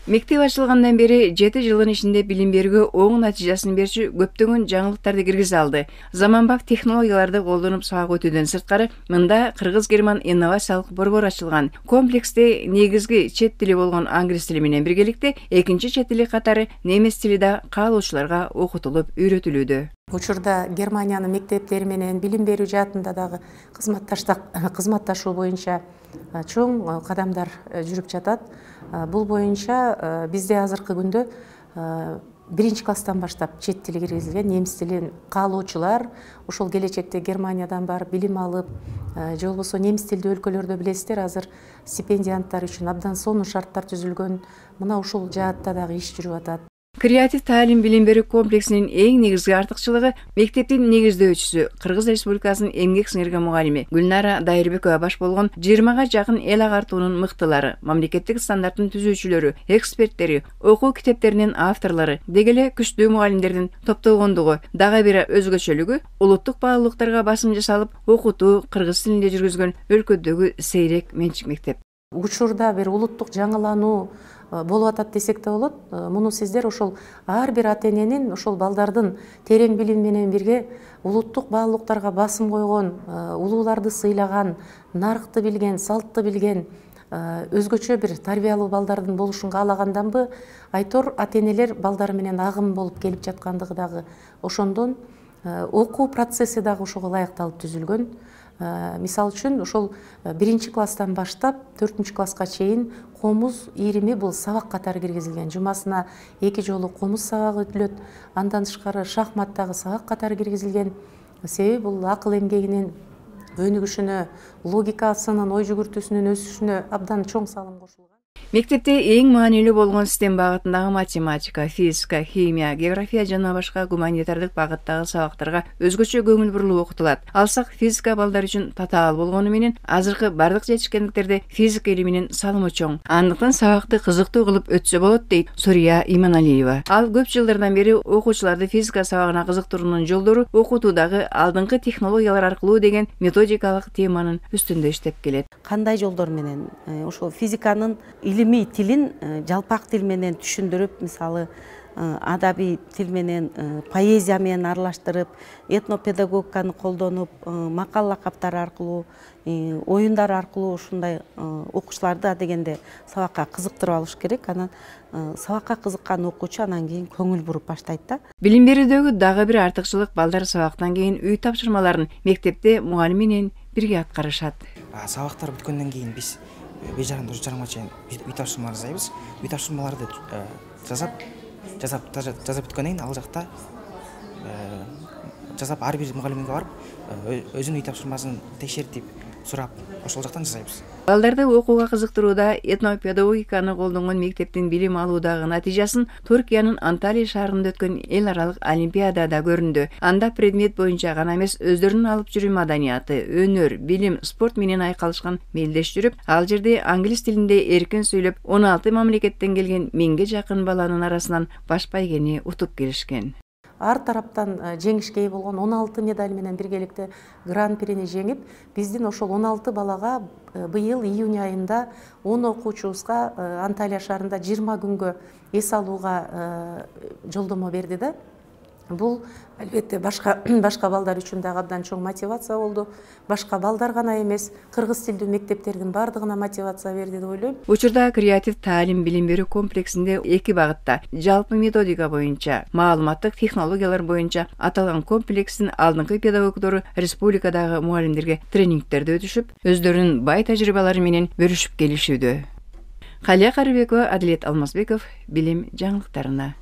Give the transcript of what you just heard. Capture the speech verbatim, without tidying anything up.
Мектеп ачылгандан бери жети жылдын ичинде билим берүүгө оң натыйжасын берчү көптөгөн жаңылыктарды киргизе алды. Заманбап технологияларды колдонуп сабак өтүүдөн сырткары, мында кыргыз-герман инновациялык борбор ачылган. Комплексте негизги чет тили болгон англис тили менен биргеликте экинчи чет тили катары немис тили да каалоочуларга окутулуп үйрөтүлүүдө. Учурда Германиянын мектептери менен билим берүү жаатында дагы кызматташуу боюнча чоң кадамдар жүрүп жатат. Бул боюнча бизде азыркы күндө биринчи класстан баштап чет тили киргизилген, немис тилин каалоочулар ошол келечекте Германиядан барып билим алып, же болбосо немис тилдүү өлкөлөрдө билесиздер, азыр стипендианттар үчүн абдан сонун шарттар түзүлгөн. Мына ушул жаатта дагы иш жүрүп атат. Креатив таалим билим берүү комплексинин эң негизги артыкчылыгы мектептин негиздөөчүсү, Кыргыз Республикасынын эмгек сиңирген мугалими Гүлнара Дайырбекова баш болгон жыйырмага жакын эл агартуунун мыктылары, мамлекеттик стандарттын түзүүчүлөрү, эксперттери, окуу китептеринин авторлору, деги эле күчтүү мугалимдердин топтолгондугу, дагы бир өзгөчөлүгү улуттук баалуулуктарга басым жасалып, окутуу кыргыз тилинде жүргүзгөн өлкөдөгү сейрек менчик мектеп. Учурда бир улуттук жаңылануу болуп атат десек да болот. Муну сиздер ошол ар бир ата эненин ошол балдардын терең билим менен бирге улуттук баалуулуктарга басым койгон, улууларды сыйлаган, наркты билген, салтты билген, өзгөчө бир тарбиялуу балдардын болушун каалаганданбы, айтор ата энелер балдары менен агым болуп келип жаткандыгы дагы ошондон окуу процесси дагы ошого ылайыкталып түзүлгөн. Мисалы үчүн ошол биринчи класстан баштап төртүнчү класска чейин комуз ирими бул сабак катары киргизилген. Жумасына эки жолу комуз сабагы өтүлөт. Андан тышкары шахматтагы сабак катары киргизилген. Себеби бул акыл эмгегинин өнүгүшүнө, логикасынын, ой жүгүртүүсүнүн өсүшүнө абдан чоң салым кошулган. Мектепте эң маанилүү болгон систем багытындагы математика, физика, химия, география жана башка гуманитардык багыттагы сабактарга өзгөчө көңүл бурулуп окутулат. Алсак физика балдар үчүн татаал болгону менен азыркы бардык жетишкендиктерде физика илиминин салымы чоң. Андыктан сабакты кызыктуу кылып өтсө болот дейт Сурия Иманалиева. Ал көп жылдардан бери окуучуларды физика сабагына кызыктыруунун жолдору окутуудагы алдыңкы технологиялар аркылуу деген методикалык теманын үстүндө иштеп келет. Кандай жолдор менен ошол физиканын илимий тилин жалпак тил менен түшүндүрүп, мисалы адабий тил менен, поэзия менен аралаштырып, этнопедагогиканы колдонуп, макал лакаптар аркылуу, оюндар аркылуу ушундай окуучуларды дегенде сабакка кызыктырып алыш керек. Анан сабакка кызыккан окуучу анан кийин көңүл буруп баштайт да. Билим берүүдөгү дагы бир артыкчылык балдар сабактан кийин үй тапшырмаларын мектепте мугалим менен бирге аткарышат. Сабактар бүткөндөн кийин биз беш жарым үч жарымга чейин үй тапшырма жасайбыз. Үй тапшырмаларды жасап, жасап жазып бүткөндөн кийин ал жакта жасап ар бир мугалимге барып өзүнүн үй тапшырмасын текшертип, сурап, ошол жактан жасайбыз. Балдарды окууга кызыктырууда этнопедагогиканы колдонгон мектептин билим алуудагы натыйжасын Туркиянын Анталия шаарында өткөн эл аралык олимпиадада көрүндү. Анда предмет боюнча гана эмес, өздөрүнүн алып жүрүү маданияты, өнөр, билим, спорт менен айкалышкан мелдеш жүрүп, ал жерде англис тилинде эркин сүйлөп, он алты мамлекеттен келген миңге жакын баланын арасынан баш байгени утуп келишкен. Ар тараптан жеңишке ээ болгон он алты медаль менен биргеликте гран-прини жеңип, биздин ошол он алты балага быйыл июнь айында он окуучубузга Анталия шаарында жыйырма күнгө эс алууга жолдомо берди да. Бул албетте башка башка балдар үчүн дагы абдан чоң мотивация болду. Башка балдар гана эмес, кыргыз тилдүү мектептердин бардыгына мотивация берди деп ойлойм. Учурда креатив таалим билим берүү комплексинде эки багытта жалпы методика боюнча, маалыматтык технологиялар боюнча аталган комплекстин алдыңкы педагогдору республикадагы мугалимдерге тренингтерди өтүшүп, өздөрүнүн бай тажрыйбалары менен бөлүшүп келишүүдө. Калия Карыбекова, Адилет Алмазбеков, билим жаңылыктарына.